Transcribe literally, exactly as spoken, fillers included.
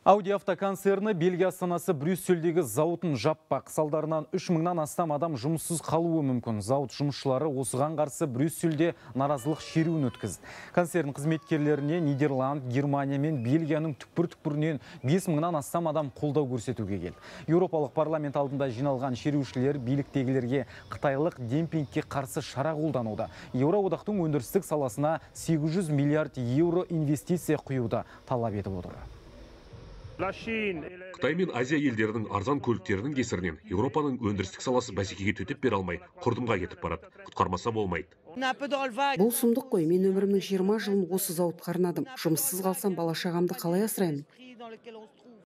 Audi автоконцерні Бельгия астанасы Брюссельдегі зауытын жаппақ. Салдарынан үш мыңнан астам адам жұмыссыз қалуы мүмкін. Зауыт жұмысшылары осыған қарсы Брюссельде наразылық шеруін өткізді. Концерн қызметкерлеріне Нидерланд, Германия мен Бельгияның түкпір-түкпірінен бес мыңнан астам адам қолдау көрсетуге келді. Еуропалық парламент алдында жиналған шерушілер биліктегілерге қытайлық демпингке қарсы шара қолдануда. Еуроодақтың өндірістік саласына сегіз жүз миллиард еуро инвестиция құюды талап етіп отыр. Қытай мен Азия елдерінің арзан көліктерінің кесірінен Еуропаның өндірістік саласы бәсекеге төтеп бере алмай, құрдымға кетіп барады. Құтқармаса болмайды. Бұл сұмдық қой, мен өмірімнің жиырма жылын осы зауытқа арнадым. Жұмыссыз қалсам бала шағамды қалай асыраймын?